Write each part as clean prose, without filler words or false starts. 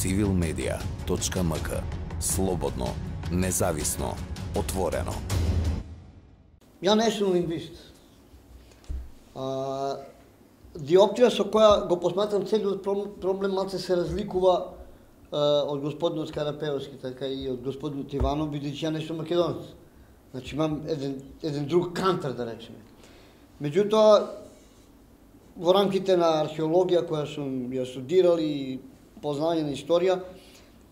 civilmedia.mk. Слободно, независно, отворено. Ја не сум лингвист. Диоптрија со која го посматрам целиот проблем малце се разликува од господинот Карапеовски, така и од господинот Иванов, бидејќи ја не сум македонец. Значи имам еден друг кантар, да речеме. Меѓутоа, во рамките на археологија која сум ја студирал и познање на историја,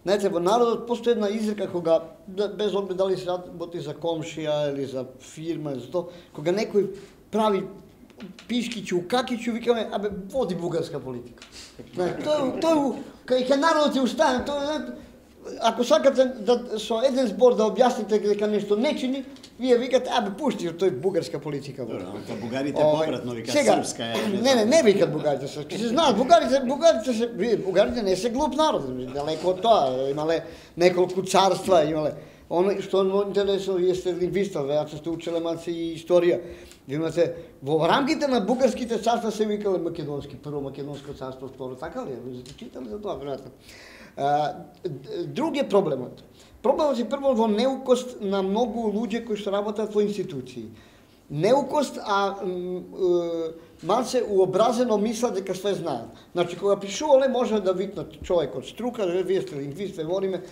знаете, во народот постои една изрека кога, без оглед дали се работи за комшија или за фирма, или за то, кога некој прави пишкичу, какичу, викаме, абе, води бугарска политика. Тој, кај народот ја устане, ако сакате да со еден збор да објасните дека нешто не чини, вие викате, абе, пушти тој бугарска политика. Добро, бугарите попратно викат српска е. Не викат бугарите српска. Се знаат, бугарите не се глуп народ, далеко од тоа, имале неколку царства, имале. Оно што е интересно, вие сте лингвиста, веројатно сте учеле малце и историја. Ви имате во рамките на бугарските царства се викале македонски, прво македонско царство, второ, така ли? Читали за тоа, веројатно. Друг е проблемот. Проблемот е прво во неукост на многу луѓе кои што работат во институции. Неукост, малце уобразено мислат дека све знаат. Значи, кога пишувале, може да викнат човек од струка, вие сте лингвист, вориме.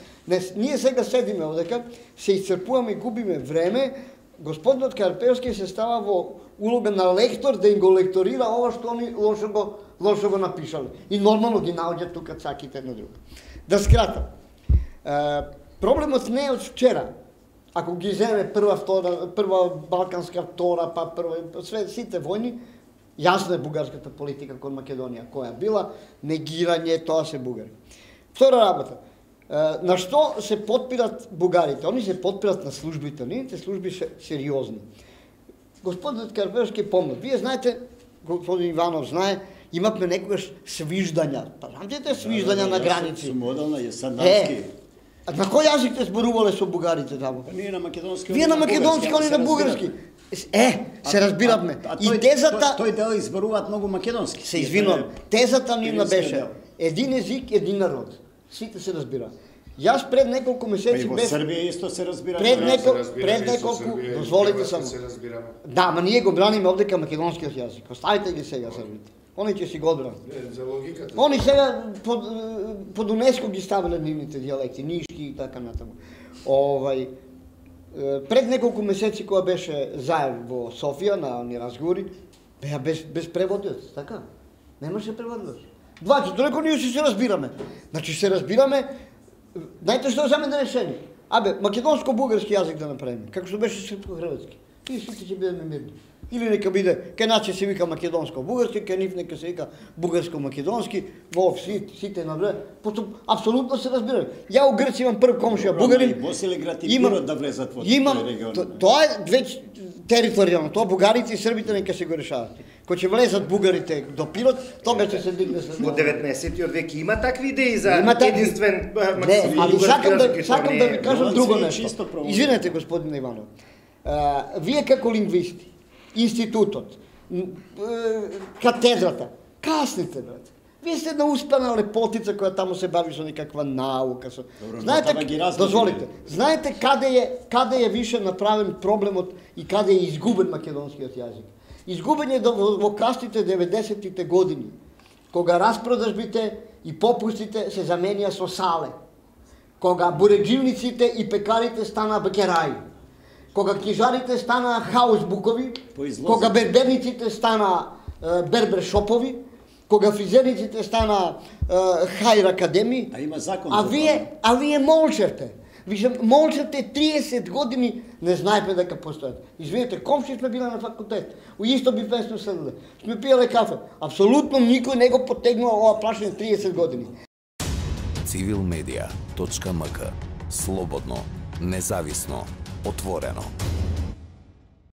Ние сега седиме овдека, се исцрпуваме и губиме време. Господинот Карпеовски се става во улога на лектор да им го лекторира ова што они лошо го напишале. И нормално ги наоѓаат тука цаките на друга. Да скратам. Проблемот не е од вчера. Ако ги земе прва балканска, втора, па прва, сите војни, јасно е бугарската политика кон Македонија, која била негирање, тоа се бугари. Втора работа. На што се подпират бугарите? Они се подпират на службите. Нивните служби се сериозни. Господинот Карпеовски е помнат. Вие знаете, господин Иванов знае, имавме некогаш свиждања. Памтите свиждања на граници. Сумодална е садански. На кој јазик те зборувале со бугарите таму? Ние на македонски. Вие на македонски, они на бугарски. Се разбиравме. И тезата... Тој дел изборуваат многу македонски. Се извинувам. Тезата нивна беше един език, един народ. Сите се разбираат. Јас пред неколку месеци без... Во Србија исто се разбира. Пред неколку, дозволите само. Да, ма ние го браниме овдека македонскиот јазик. Оставите ги сега србите. Они ќе си го одбранат. За логиката. Они сега под УНЕСКО ги ставиле нивните дијалекти, нишки и така натаму. Пред неколку месеци кога беше Заев во Софија на они разговори, беа без преводец, така? Немаше преводец. Долеку ние се разбираме. Значи се разбираме. Знаете што за мене решение? Абе, македонско-бугарски јазик да направиме, како што беше српско-хрватски. И сите ќе бидеме мирни. Или нека биде, кај нас се вика македонско-бугарски, кај нив нека се вика бугарско-македонски, во сите на време. Просто апсолутно се разбираме. Ја у Грција имам прв комшија бугарин. Босилеград и Пирот да влезат во тој регион. Тоа е веќе територијално, тоа бугарите и србите нека се го решават. Кога ќе влезат бугарите до Пирот, тогаш ќе се дигне се. Во 19-тиот век има такви идеи за единствен али сакам да ви кажам друго нешто. Извинете, господин Иванов. Вие како лингвисти, институтот, катедрата, касните, брат. Вие сте една успена лепотица која таму се бави со некаква наука. Знаете, дозволите, знаете каде е више направен проблемот и каде е изгубен македонскиот јазик? Изгубен е во касните 90-тите години, кога распродажбите и попустите се заменија со сале, кога буреџивниците и пекарите стана бекераи, кога книжарите стана хаусбукови, кога берберниците стана бербершопови, кога фризерниците стана хајр академи, а вие молчете. Молчете 30 години, не знаете дека постојат. Извинете, комши сме биле на факултет. У исто би сме седеле. Сме пиеле кафе. Апсолутно никој не го потегнува ова прашање 30 години. civilmedia.mk. Слободно, независно, отворено.